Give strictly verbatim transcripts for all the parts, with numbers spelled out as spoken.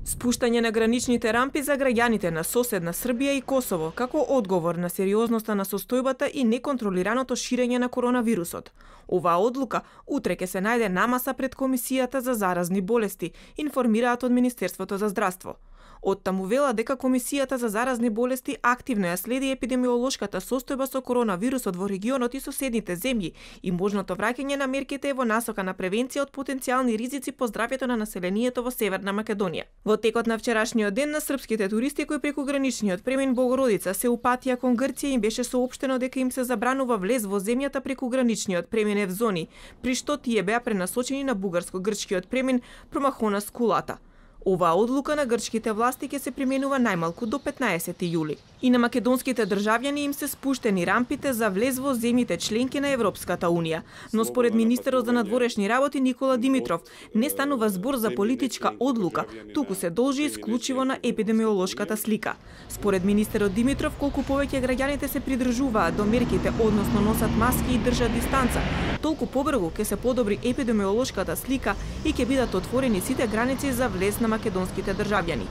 Спуштање на граничните рампи за граѓаните на соседна Србија и Косово како одговор на сериозноста на состојбата и неконтролираното ширење на коронавирусот. Оваа одлука утре ќе се најде намаса пред Комисијата за заразни болести, информираат од Министерството за здравство. Оттаму вела дека Комисијата за заразни болести активно ја следи епидемиолошката состојба со коронавирусот во регионот и соседните земји и можното враќање на мерките во насока на превенција од потенцијални ризици по здравјето на населението во Северна Македонија. Во текот на вчерашниот ден на српските туристи кои преку граничниот премин Богородица се упатија кон Грција им беше соопштено дека им се забранува влез во земјата преку граничниот премин Евзони, при што тие беа пренасочени на бугарско-грчкиот премин Промахонас Кулата. Оваа одлука на грчките власти ќе се применува најмалку до петнаесети јули. И на македонските државјани им се спуштени рампите за влез во земјите членки на Европската унија. Но според министерот за надворешни работи Никола Димитров, не станува збор за политичка одлука, туку се должи исклучиво на епидемиолошката слика. Според министерот Димитров, колку повеќе граѓаните се придржуваат до мерките, односно носат маски и држат дистанца, толку побрзо ќе се подобри епидемиолошката слика и ќе бидат отворени сите граници за влез на македонските државјани.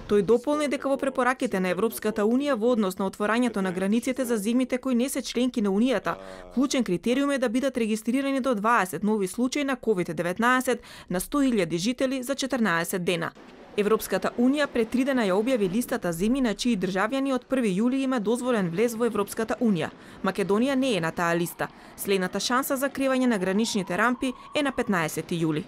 Тој дополни дека во препораките на Европската унија во однос на отворањето на границите за земјите кои не се членки на Унијата, клучен критериум е да бидат регистрирани до дваесет нови случаи на ковид деветнаесет на сто илјади жители за четрнаесет дена. Европската унија пред три дена ја објави листата земји на чии државјани од први јули има дозволен влез во Европската унија. Македонија не е на таа листа. Следната шанса за кревање на граничните рампи е на петнаесети јули.